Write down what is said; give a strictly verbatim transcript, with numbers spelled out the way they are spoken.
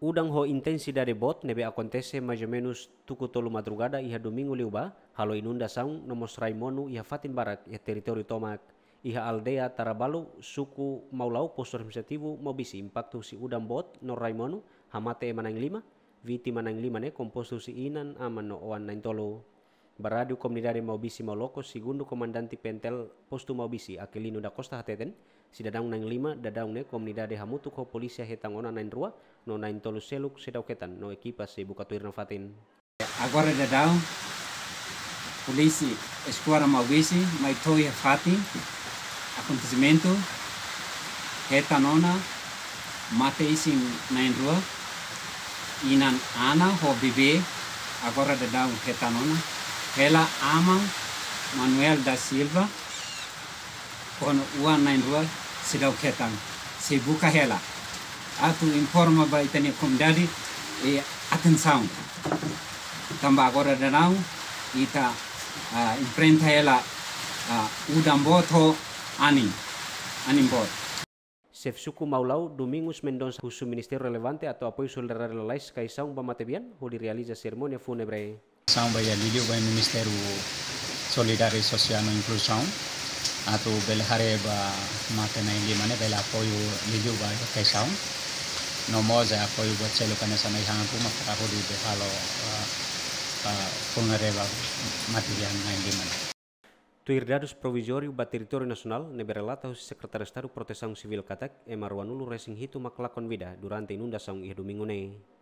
Udan ho intensidade boot ne'ebé akontese maizumenus tuku tolu madrugada iha domingu liubá, halo inundasaun no mós rai monu iha fatin barak iha territóriu tomak. Iha aldeia Tarabalu, suku Maulau, postu administrativu Maubisse, impaktu husi udan boot no rai monu, hamate ema na'in lima, vítima na'in lima ne'e kompostu husi inan, aman no oan na'in tolu. Ba rádiu komunidade Maubisse Mauloko, segundu komandante PNTL postu Maubisse, Aquilino da Costa hateten, sidadaun na'in lima daudaun ne'e komunidade hamutuk ho polísia hetan ona na'in rua, no na'in tolu seluk seidauk hetan, no ekipa sei buka tuir nafatin. Agora daudaun, polísia eskuadra Maubisse mai to'o iha fatin akontesimentu, hetan ona mate isin na'in rua, inan, aman ho bebé, agora daudaun hetan ona, hela aman Manuel da Silva, ho oan na'in rua seidauk hetan, sei buka hela. Atu informa ba ita-nia komunidade, eh, atensaun. Tanba agora daudaun ita, ah, enfrenta hela, ah, udan boot ho anin, anin boot. Xefe suku Maulau, Domingos Mendonça, husu ministériu relevante atu apoiu solidariedade lalais kaisaun ba matebian, hodi realiza serimónia fúnebre. Asaun ba iha liuliu ba Ministériu Solidariedade Sosiál no Inkluzaun, atu bele haree ba mate na'in lima ne'e bele apoiu liuliu ba iha kaisaun. No mós apoiu buat seluk hanesan ai-han ruma para hodi bele halo, ah, ah, fúnebre ba matebian na'in lima ne'e. Tuir dadus provizóriu ba territóriu nasionál ne'ebé relata husi Sekretáriu Estadu Protesaun Sivíl katak, ema ruanulu-resin-hitu mak lakon vida durante inundasaun iha domingu ne'e.